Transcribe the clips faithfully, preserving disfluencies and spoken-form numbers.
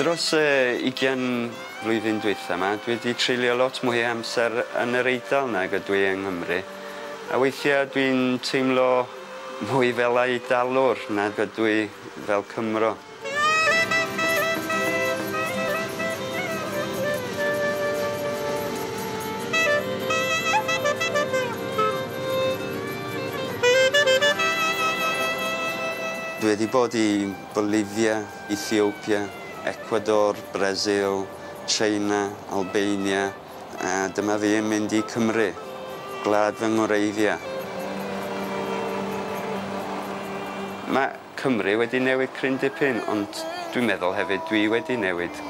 Dros y ugian flwyddyn dwytha yma, dwi wedi treulio lot mwy o amser yn yr Eidal nag ydw i yng Nghymru. A weithiau dwi'n teimlo mwy fel Eidalwr nag ydw i fel Cymro. Dwi wedi bod i Bolivia, Ethiopia, Ecuador, Brasil, China, Albania, a dyma fi yn mynd i Cymru, gwlad fy ngwreiddiau. Mae Cymru wedi newid cryn dipyn, ond dwi'n meddwl hefyd dwi wedi newid.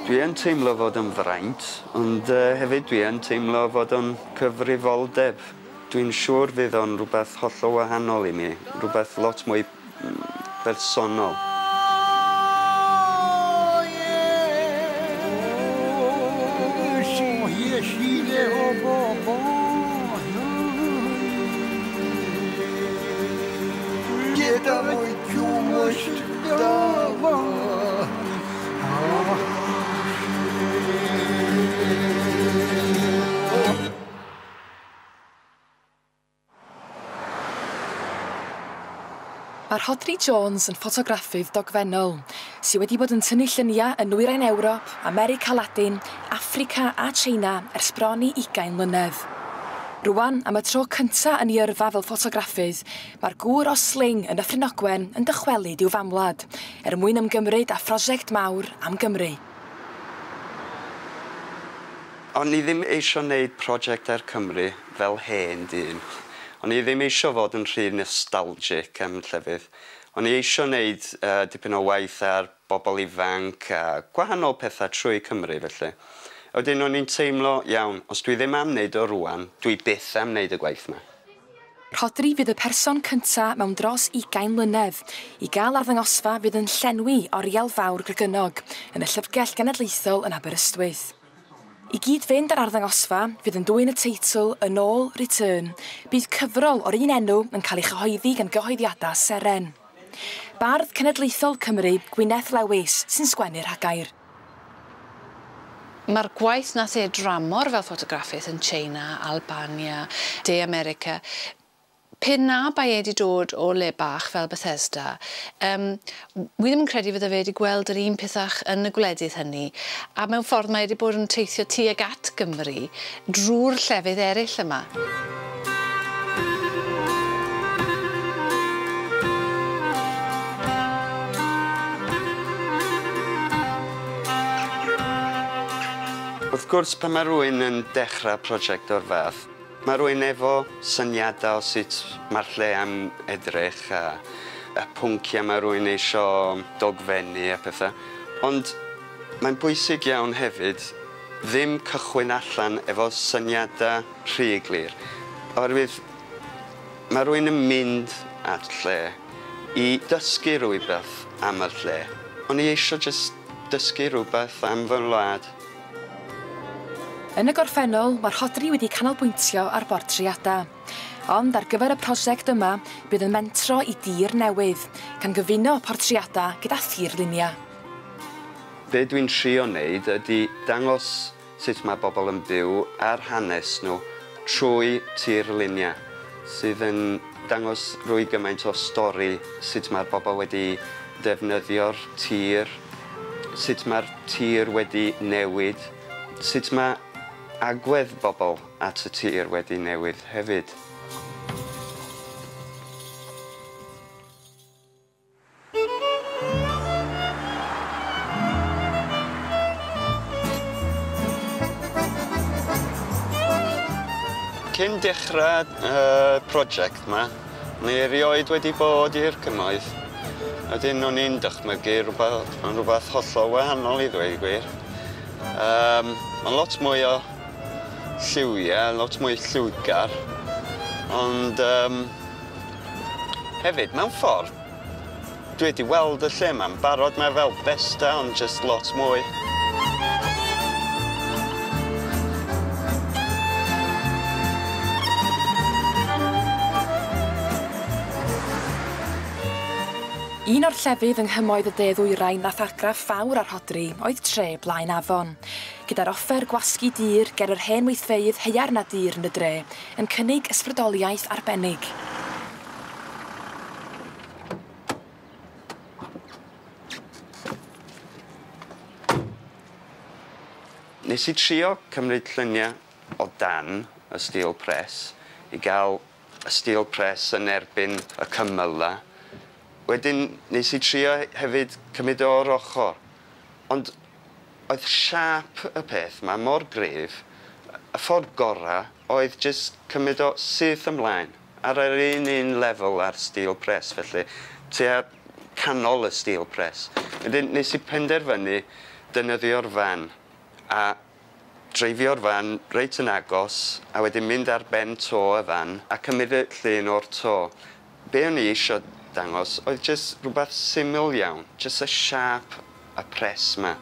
Dwi yn teimlo fod yn fraint, ond hefyd dwi yn teimlo fod o'n cyfrifoldeb. Dwi'n siŵr fydd o'n rhywbeth hollol wahanol i mi, rhywbeth lot mwy bersonol. Mae Rhodri Jones yn ffotograffydd dogfennol sydd wedi bod yn tynnu lluniau yn Nwyrain Ewrop, America Ladin, Affrica a China ers bron i ugain mlynedd. Rwan, am y tro cynta yn ei yrfa fel ffotograffydd, mae'r gŵr o Sling yn Nyffryn Ogwen yn dychwelyd i'w famwlad er mwyn ymgymryd â phrosiect mawr am Gymru. O'n i ddim eisiau gwneud prosiect ar Cymru fel hen dyn. O'n i ddim eisiau fod yn rhy nostalgic am llefydd. O'n i eisiau gwneud uh, dipyn o waith ar bobl ifanc a gwahanol pethau trwy Cymru felly. Wedyn o'n i'n teimlo, iawn, os dwi ddim am wneud o rŵan, dwi byth am wneud y gwaith yma. Rhodri fydd y person cynta mewn dros ugain mlynedd i gael arddangosfa fydd yn llenwi Oriel Fawr Gregynog yn y Llyfrgell Genedlaethol yn Aberystwyth. I gyd-fynd ar arddangosfa fydd yn dwyn y teitl Yn ôl Return, bydd cyfrol o'r un enw yn cael ei chyhoeddi gan gyhoeddiadau Seren. Bardd Cenedlaethol Cymru, Gwyneth Lewis, sy'n sgwennu'r rhagair. Mae'r gwaith nath e dramor fel ffotograffydd yn China, Albania, De America, pe na bai e wedi dod o le bach fel Bethesda, um, wi ddim yn credu fydde fe wedi gweld yr un pethach yn y gwledydd hynny, a mewn ffordd mae wedi bod yn teithio tuag at Gymru drwy'r llefydd eraill yma. Wrth gwrs, pan mae rhywun yn dechrau prosiect o'r fath, mae rhywun efo syniadau o sut mae'r lle am edrych a, a pwnciau mae rhywun eisiau dogfennu a pethau. Ond mae'n bwysig iawn hefyd ddim cychwyn allan efo syniadau rhy glir. Oherwydd mae rhywun yn mynd at lle i dysgu rhywbeth am y lle. O'n i eisiau jyst dysgu rhywbeth am fy wlad. Yn y gorffennol, mae Rhodri wedi canolbwyntio ar bortreadau. Ond ar gyfer y prosiect yma, bydd yn mentro i dir newydd, gan gyfuno portreadau gyda thirluniau. Be dwi'n trio wneud ydy dangos sut mae bobl yn byw a'r hanes nhw trwy tirluniau, sydd yn dangos rwy gymaint o stori sut mae'r bobl wedi defnyddio'r tir, sut mae'r tir wedi newid, sut mae agwedd bobl at y tir wedi newid hefyd. Cyn dechrau y prosiect yma, o'n i erioed wedi bod i'r cymoedd. Wedyn o'n i'n dychmygu rhywbeth, rhywbeth hollol wahanol i ddweud gwir. Um, Mae'n lot mwy o lliwiau, lot mwy lliwgar, ond um, hefyd, mewn ffordd, dwi wedi weld y lle yma'n barod, mae fel Bethesda, ond just lot mwy. I Un o'r llefydd yng nghymoedd y De Ddwyrain nath argraff fawr ar Rhodri oedd tre Blaenafon, gyda'r offer gwasgu dur ger yr hen weithfeydd haearn a dur yn y dre yn cynnig ysbrydoliaeth arbennig. Nes i trio cymryd lluniau o dan y steel press i gael y steel press yn erbyn y cymylau. Wedyn nes i trio hefyd cymryd o'r ochr. Ond oedd siâp y peth 'ma mor gryf, y ffordd gorau oedd jyst cymryd o syth ymlaen ar yr un un lefel â'r steel press, felly tua canol y steel press. Wedyn nes i penderfynu defnyddio'r fan a dreifio'r fan reit yn agos a wedyn mynd ar ben to y fan a cymryd y llun o'r to. Be o'n i eisiau dangos oedd jyst rhywbeth syml iawn, jyst y siâp y press 'ma.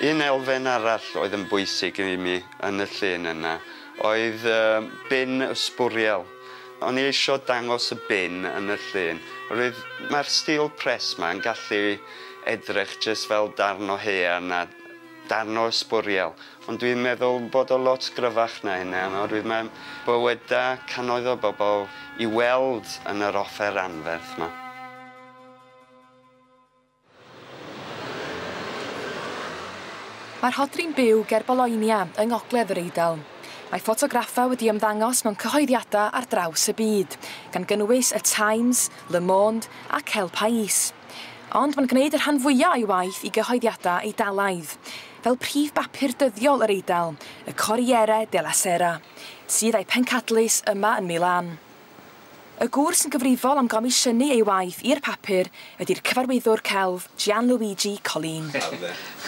Un elfen arall oedd yn bwysig i mi yn y llun yna oedd uh, bin ysbwriel. O'n i eisiau dangos y bin yn y llun. Roedd mae'r steel press 'ma yn gallu edrych jyst fel darn o haearn a darn o ysbwriel. Ond dwi'n meddwl bod o lot gryfach na hynna, oherwydd mae bywydau cannoedd o bobl i weld yn yr offer anferth 'ma. Mae Rhodri'n byw ger Bologna yng Ngogledd yr Eidal. Mae ffotograffau wedi ymddangos mewn cyhoeddiadau ar draws y byd, gan gynnwys y Times, Le Monde ac El País. Ond mae'n gwneud y rhan fwyaf o'i waith i gyhoeddiadau Eidalaidd, fel prif bapur dyddiol yr Eidal, y Corriere della Sera, sydd â'i pencadlys yma yn Milan. Y gŵr sy'n gyfrifol am gomisiynu ei waith i'r papur ydy'r cyfarwyddwr celf Gianluigi Colin.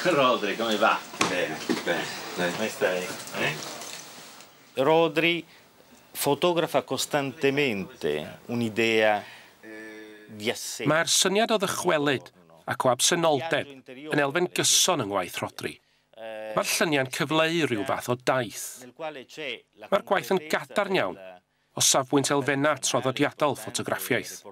Rhodri, come va? Bene, bene. Come stai? Eh? Rhodri fotografa costantemente un'idea di assenza. Mae'r syniad o ddychwelyd ac o absenoldeb yn elfen gyson yng ngwaith Rhodri. Mae'r lluniau'n cyfleu rhyw fath o daith. Mae'r gwaith yn gadarn iawn o safbwynt elfennau traddodiadol ffotograffiaeth.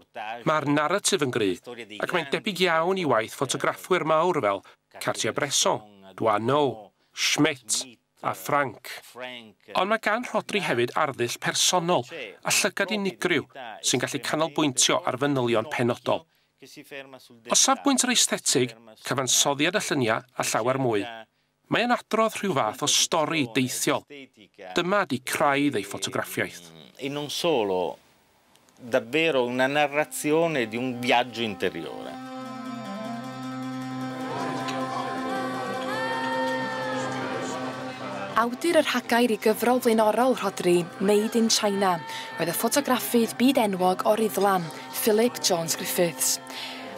Mae'r naratif yn gryf ac mae'n debyg iawn i waith ffotograffwyr mawr fel Cartier-Bresson, Doisneau, Schmidt a Frank. Ond mae gan Rhodri hefyd arddull personol a llygad unigryw sy'n gallu canolbwyntio ar fanylion penodol. O safbwynt yr aesthetig, cyfansoddiad y lluniau a llawer mwy, mae'n adrodd rhyw fath o stori deithiol. Dyma di craidd ei ffotograffiaeth. E non solo, davvero una narrazione di un viaggio interiore. Awdur yr rhagair i gyfrol flaenorol Rhodri, Made in China, oedd y ffotograffydd byd enwog o Ruddlan, Philip Jones Griffiths.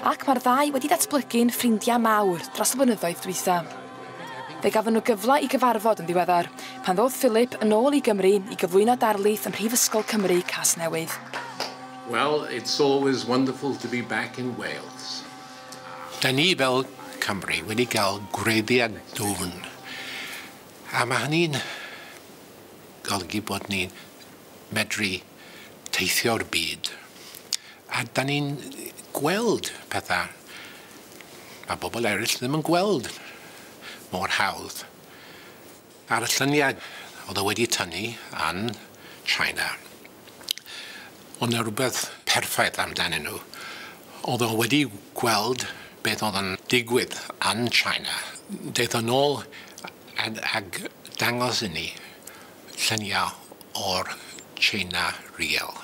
Ac mae'r ddau wedi datblygu'n ffrindiau mawr dros y blynyddoedd dwytha. Fe gafon nhw gyfle i gyfarfod yn ddiweddar, pan ddodd Philip yn ôl i Gymru i gyflwyno darlith ym Mhrifysgol Cymru Casnewydd. Well, it's always wonderful to be back in Wales. Da ni fel Cymru wedi cael gwreiddiau dwfn. A mae hynny'n golygu bod ni'n medru teithio'r byd. A da ni'n gweld pethau mae bobl eraill ddim yn gweld mor hawdd. Ar y lluniau oedd o wedi tynnu yn China, oedd 'na rhywbeth perffaith amdanyn nhw. Oedd o wedi gweld beth oedd yn digwydd yn China. Daeth o nôl ag dangos i ni lluniau o'r China real.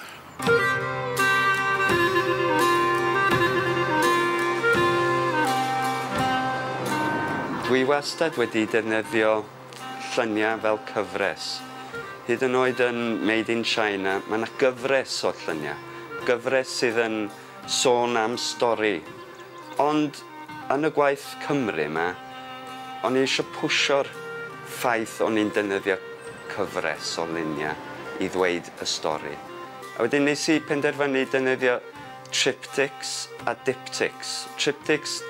Dwi wastad wedi defnyddio lluniau fel cyfres. Hyd yn oed yn Made in China, mae yna gyfres o lluniau. Gyfres sydd yn sôn am stori. Ond yn y gwaith Cymru yma, o'n i eisiau pwsio'r ffaith o'n i'n defnyddio cyfres o luniau i ddweud y stori. A wedyn nes i penderfynu defnyddio triptychs a diptychs. Triptychs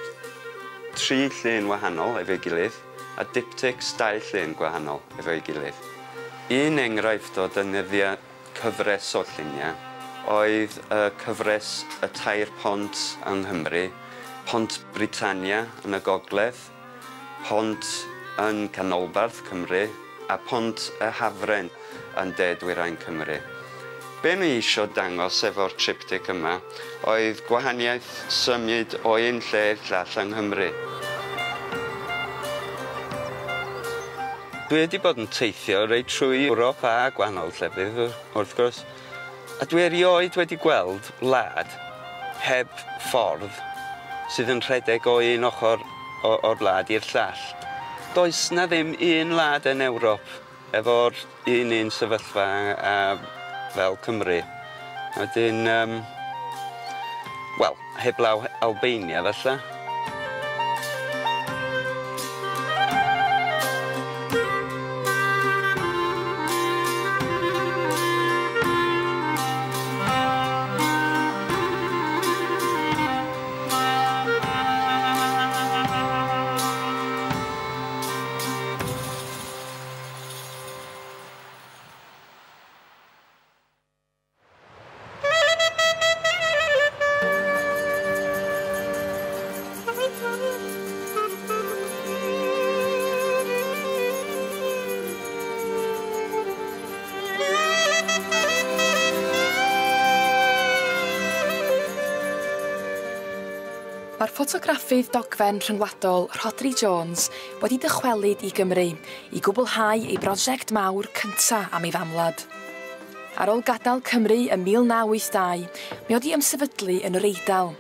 tri llun wahanol efo'i gilydd, a diptychs dau llun gwahanol efo'i gilydd. Un enghraifft o defnyddio cyfres o lluniau oedd y cyfres y Tair Pont yng Nghymru, Pont Britannia yn y Gogledd, Pont yn Canolbarth Cymru a Pont y Hafren yn De Dwyrain Cymru. Be ni eisiau dangos efo'r triptych yma oedd gwahaniaeth symud o un lle i'r llall yng Nghymru. Dwi wedi bod yn teithio reit trwy Ewrop a gwahanol llefydd, wrth gwrs, a dwi erioed wedi gweld wlad heb ffordd sydd yn rhedeg o un ochr o'r wlad i'r llall. Does na ddim un wlad yn Ewrop efo'r un un sefyllfa a, fel Cymru. Wedyn, um, wel, heblaw Albania falle. Mae'r ffotograffydd dogfen rhyngwladol Rhodri Jones wedi dychwelyd i Gymru i gwblhau ei brosiect mawr cynta am ei famwlad. Ar ôl gadael Cymru ym mil naw wyth dau, mae wedi ymsefydlu yn yr Eidal,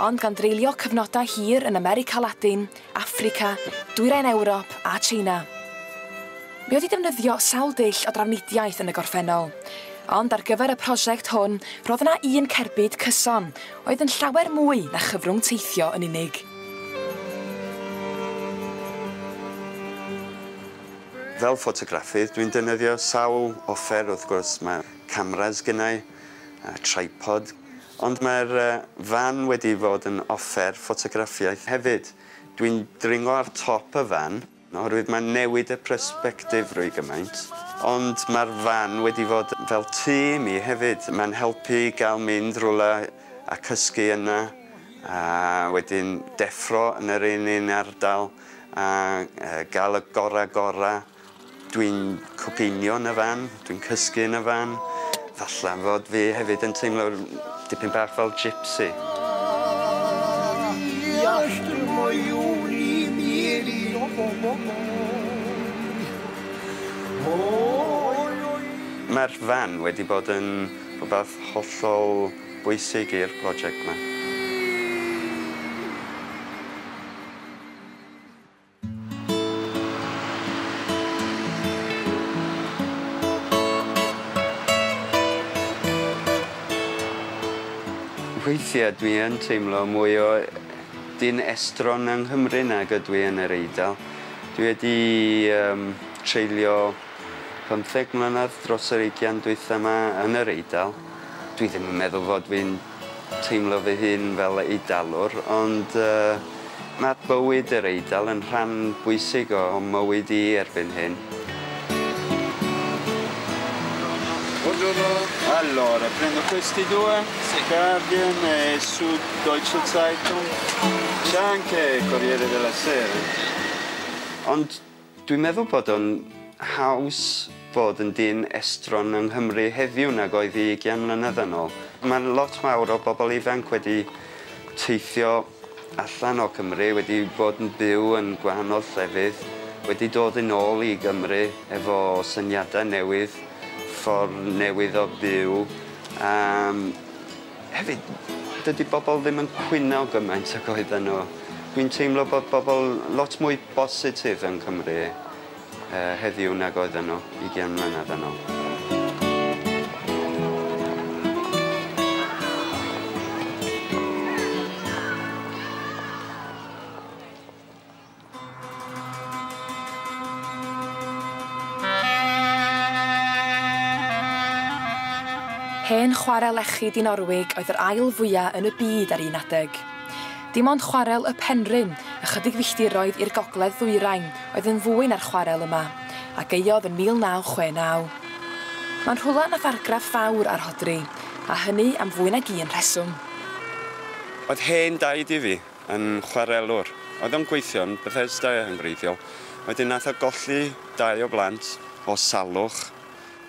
ond gan dreulio cyfnodau hir yn America Ladin, Affrica, Dwyrain Ewrop a Tsieina. Mae wedi defnyddio sawl dull o drafnidiaeth yn y gorffennol, ond ar gyfer y prosiect hwn, roedd yna un cerbyd cyson, oedd yn llawer mwy na chyfrwng teithio yn unig. Fel ffotograffydd, dwi'n defnyddio sawl offer, wrth gwrs, mae cameras gennau, a tripod, ond mae'r fan wedi fod yn offer ffotograffiaeth hefyd. Dwi'n dringo ar top y fan, oherwydd mae'n newid y persbectif rwy gymaint. Ond mae'r fan wedi fod fel tŷ i mi hefyd. Mae'n helpu gael mynd rhywle a cysgu yna, a wedyn deffro yn yr un un ardal, a gael y gorau gorau. Dwi'n coginio yn y fan, dwi'n cysgu yn y fan. Falle fod fi hefyd yn teimlo dipyn bach fel gypsy. Mae'r fan wedi bod yn rhywbeth hollol bwysig i'r prosiect yma. Weithiau dwi yn teimlo mwy o dyn estron yng Nghymru nag ydw i yn yr Eidal. Dwi wedi um, treulio pymtheg mlynedd dros yr ugain dwytha yma yn yr Eidal. Dwi ddim yn meddwl fod fi'n teimlo fy hun fel Eidalwr, ond uh, mae bywyd yr Eidal yn rhan bwysig o mywyd i erbyn hyn. Buongiorno. Allora, prendo questi due, sì. Guardian e Süddeutsche Zeitung. C'è anche Corriere della Sera. Ond dwi'n meddwl bod o'n haws bod yn dyn estron yng Nghymru heddiw nag oedd i ugain mlynedd yn ôl. Mae'n lot mawr o bobl ifanc wedi teithio allan o Cymru, wedi bod yn byw yn gwahanol llefydd, wedi dod yn ôl i Gymru efo syniadau newydd, ffordd newydd o byw. Um, hefyd, dydy bobl ddim yn cwyno gymaint ag oedden nhw. Dwi'n teimlo bod bobl lot mwy bositif yn Cymru uh, heddiw nag oedden nhw ugain mlynedd yn ôl. Hen chwarel lechi Dinorwig oedd yr ail fwyaf yn y byd ar un adeg. Dim ond chwarel y Penrhyn, ychydig filltiroedd i'r gogledd ddwyrain, oedd yn fwy na'r chwarel yma, a gaeodd yn mil naw chwe naw. Mae'n rhywle nath argraff fawr ar Rhodri, a hynny am fwy nag un rheswm. Oedd hen daid i fi yn chwarelwr. Oedd o'n gweithio yn Bethesda yn gwreiddiol. Wedyn nath o golli dau o blant o salwch.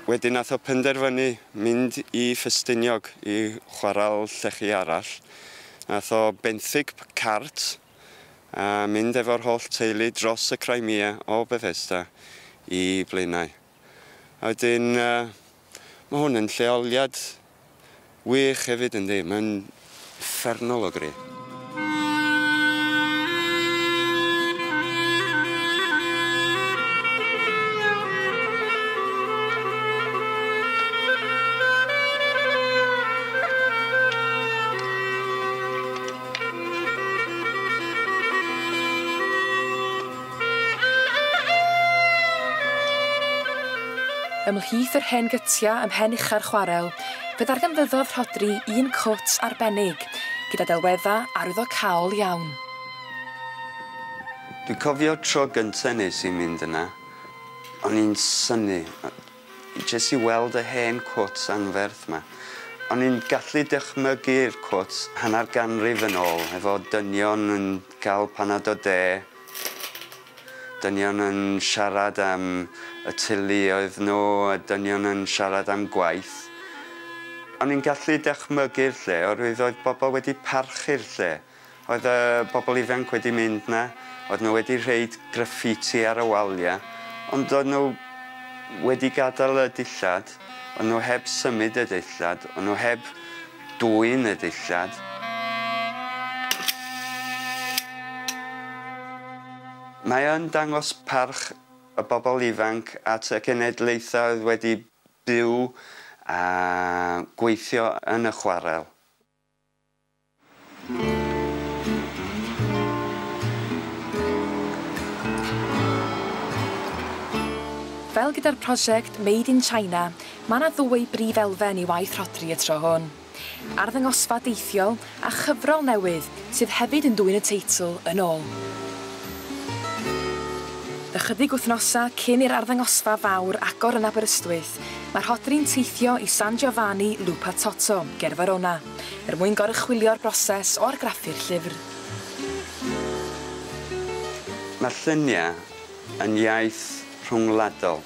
Wedyn nath o penderfynu mynd i Ffestiniog i chwarel llechi arall. Nath o benthyg cart a mynd efo'r holl teulu dros y Crimea o Bethesda i Blaenau. A wedyn, uh, mae hwn yn lleoliad wych hefyd yndi, mae'n uffernol o gry. Ymhlith yr hen gytia ym mhen ucha'r chwarel, fe ddarganfyddodd Rhodri un cwt arbennig, gyda delwedda arwyddocaol iawn. Dwi'n cofio tro gyntaf nes i mynd yna, o'n i'n synnu, jyst i weld y hen cwt anferth yma. O'n i'n gallu dychmygu'r cwt hanner ganrif yn ôl, efo dynion yn cael panad o de, dynion yn siarad am y teuluoedd nhw, a dynion yn siarad am gwaith. O'n i'n gallu dychmygu'r lle, oherwydd oedd bobl wedi parchu'r lle. Oedd y bobl ifanc wedi mynd na, oedd nhw wedi rhoid graffiti ar y waliau, ond oedd nhw wedi gadael y dillad, oedd nhw heb symud y dillad, oedd nhw heb dwyn y dillad. Mae yn dangos parch y bobl ifanc at y cenedlaethau oedd wedi byw a gweithio yn y chwarel. Fel gyda'r prosiect Made in China, mae yna ddwy brif elfen i waith Rhodri y tro hwn. Arddangosfa deithiol a chyfrol newydd sydd hefyd yn dwyn y teitl yn ôl. Ychydig wythnosau cyn i'r arddangosfa fawr agor yn Aberystwyth, mae Rhodri'n teithio i San Giovanni Lupatoto, ger Verona, er mwyn goruchwylio'r broses o argraffu'r llyfr. Mae lluniau yn iaith rhwngwladol.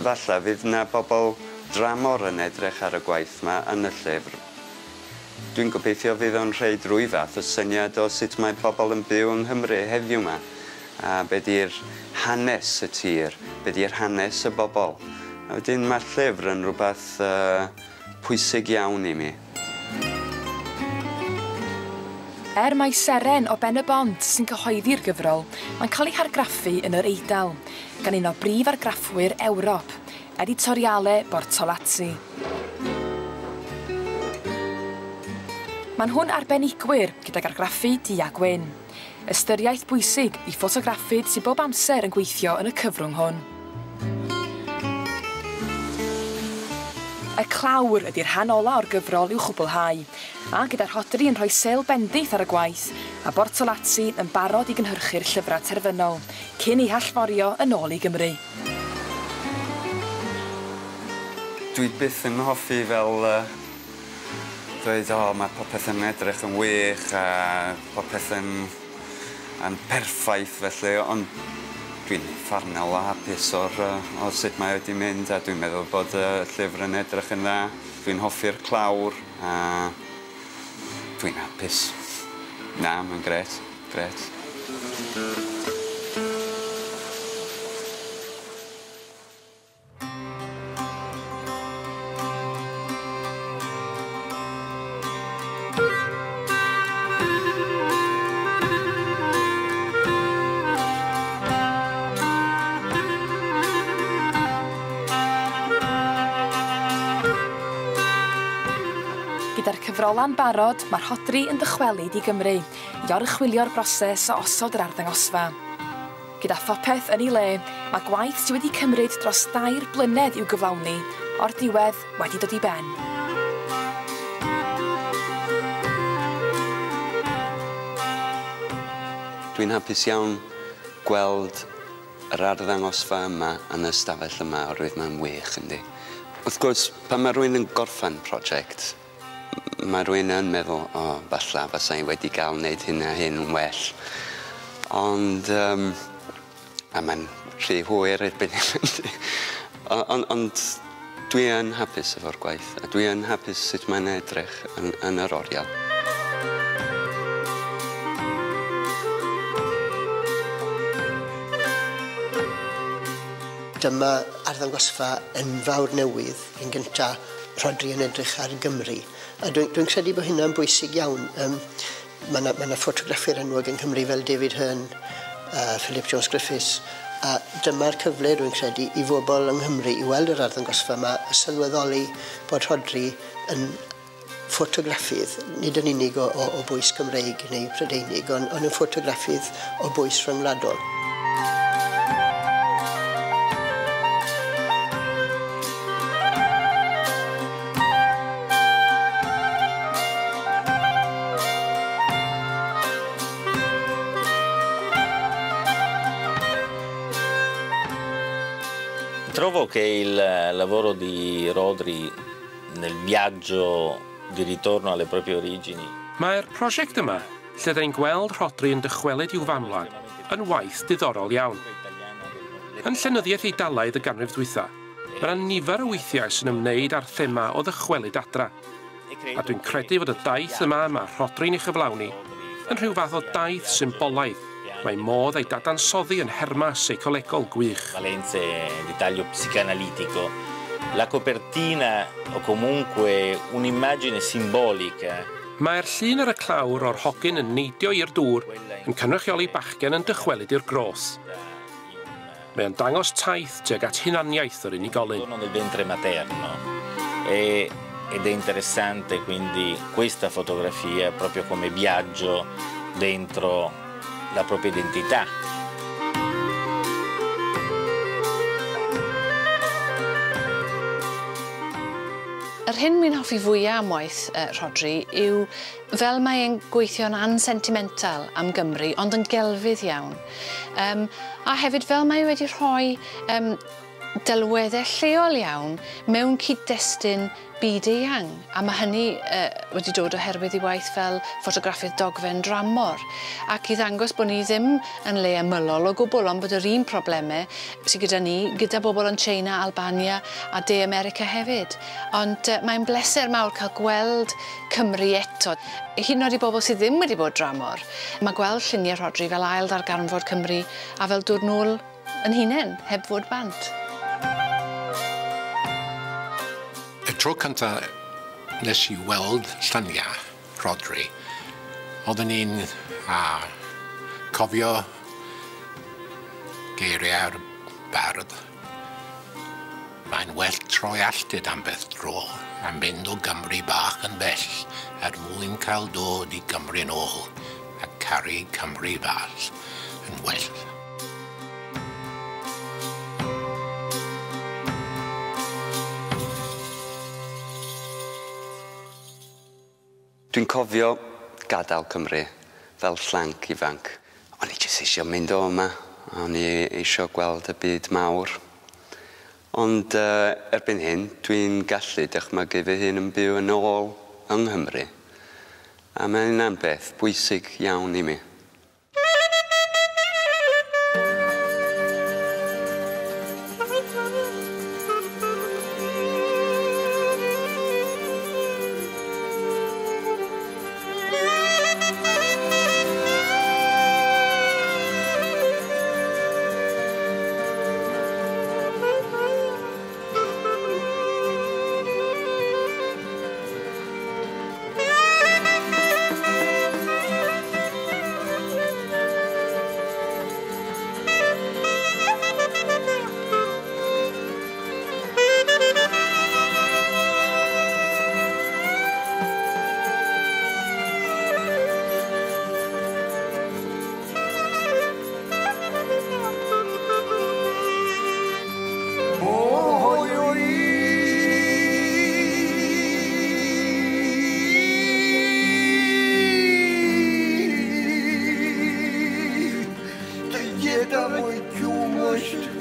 Falle fydd yna bobl dramor yn edrych ar y gwaith yma yn y llyfr. Dwi'n gobeithio fydd o'n rhoid rhyw fath o syniad o sut mae pobl yn byw yng Nghymru heddiw yma, a be di'r hanes y tir, be di'r hanes y bobl. A wedyn mae'r llyfr yn rhywbeth uh, pwysig iawn i mi. Er mai Seren o Ben y Bont sy'n cyhoeddi'r gyfrol, mae'n cael ei hargraffu yn yr Eidal, gan un o brif argraffwyr Ewrop, Editoriale Bortolazzi. Maen nhw'n arbenigwyr gydag argraffu du a gwyn. Ystyriaeth bwysig i ffotograffydd sydd bob amser yn gweithio yn y cyfrwng hwn. Y clawr ydy'r rhan ola o'r gyfrol i'w chwblhau, a gyda Rhodri yn rhoi sêl bendith ar y gwaith, a Bortolazzi yn barod i gynhyrchu'r llyfrau terfynol, cyn ei hallforio yn ôl i Gymru. Dwi byth yn hoffi fel uh, dweud, o, mae popeth yn edrych yn wych a popeth yn, yn perffaith felly, ond dwi'n uffernol o hapus o'r, o sut mae wedi mynd, a dwi'n meddwl bod y llyfr yn edrych yn dda. Dwi'n hoffi'r clawr a dwi'n hapus. Na, mae'n grêt, grêt. Gyda'r cyfrola'n barod, mae Rhodri yn dychwelyd i Gymru i oruchwylio'r broses o osod yr arddangosfa. Gyda phopeth yn ei le, mae gwaith sydd wedi cymryd dros dair blynedd i'w gyflawni, o'r diwedd wedi dod i ben. Dwi'n hapus iawn gweld yr arddangosfa yma yn y stafell yma oherwydd mae'n wych, yndi. Wrth gwrs, pan mae rhywun yn gorffen prosiect, mae rhywun yn meddwl, o, falla, fasa i wedi gael wneud hyn a hyn yn well. Ond, um, a mae'n rhy hwyr erbyn hyn. Ond, ond dwi yn hapus efo'r gwaith, a dwi yn hapus sut mae'n edrych yn, yn yr oriel. Dyma arddangosfa enfawr newydd, yn gynta Rhodri yn edrych ar Gymru. A dwi'n dwi credu bod hynna'n bwysig iawn. Um, mae yna ma na ffotograffwyr enwog yng Nghymru fel David Hurn, uh, Philip Jones Griffiths, a dyma'r cyfle dwi'n credu i bobl yng Nghymru i weld yr arddangosfa yma a sylweddoli bod Rhodri yn ffotograffydd, nid yn unig o, o, o bwys Cymreig neu Prydeinig, ond, ond yn ffotograffydd o bwys rhyngwladol. Trovo che il lavoro di Rhodri nel viaggio di ritorno alle proprie origini. Mae'r prosiect yma, lle da ni'n gweld Rhodri yn dychwelyd i'w famwlad, yn waith diddorol iawn. Yn llenyddiaeth Eidalaidd y ganrif dwytha, mae yna nifer o weithiau sy'n ymwneud â'r thema o ddychwelyd adra. A dwi'n credu fod y daith yma mae Rhodri'n ei chyflawni yn rhyw fath o daith symbolaidd. Mae modd ei dadansoddi yn nhermau seicolegol gwych. Valenze di taglio psicanalitico. La copertina o comunque un'immagine simbolica. Mae'r llun ar y clawr o'r hogyn yn neidio i'r dŵr yn cynrychioli bachgen yn dychwelyd i'r groth. Mae o'n dangos taith tuag at hunaniaeth yr unigolyn. Nel ventre materno. E, ed è interessante quindi questa fotografia proprio come viaggio dentro la propria identità. Yr hyn mi'n hoffi fwyaf am waith uh, Rhodri yw fel mae e'n gweithio'n ansentimental am Gymru, ond yn gelfydd iawn. Um, a hefyd fel mae e wedi rhoi um, delweddau lleol iawn mewn cyd-destun byd eang, a mae hynny uh, wedi dod oherwydd ei waith fel ffotograffydd dogfen dramor, ac i ddangos bod ni ddim yn le ymylol o gwbl, ond bod yr un problemau sydd gyda ni, gyda bobl yn China, Albania a De America hefyd. Ond uh, mae'n bleser mawr cael gweld Cymru eto. Hyd yn oed i bobl sydd ddim wedi bod dramor, mae gweld lluniau Rhodri fel ail ddarganfod Cymru a fel dod nôl yn hunain, heb fod bant. Y tro cyntaf nes i weld lluniau Rhodri, oeddwn i'n cofio geiriau'r bardd. Mae'n well troi alltid am beth dro a mynd o Gymru bach yn bell er mwyn cael dod i Gymru'n ôl a caru Cymru fach yn well. Dwi'n cofio gadael Cymru fel llanc ifanc. O'n i jyst eisiau mynd o yma. O'n i eisiau gweld y byd mawr. Ond uh, erbyn hyn, dwi'n gallu dychmygu fy hun yn byw yn ôl yng Nghymru. A mae hynna'n beth bwysig iawn i mi. Домой, домой, qumësht.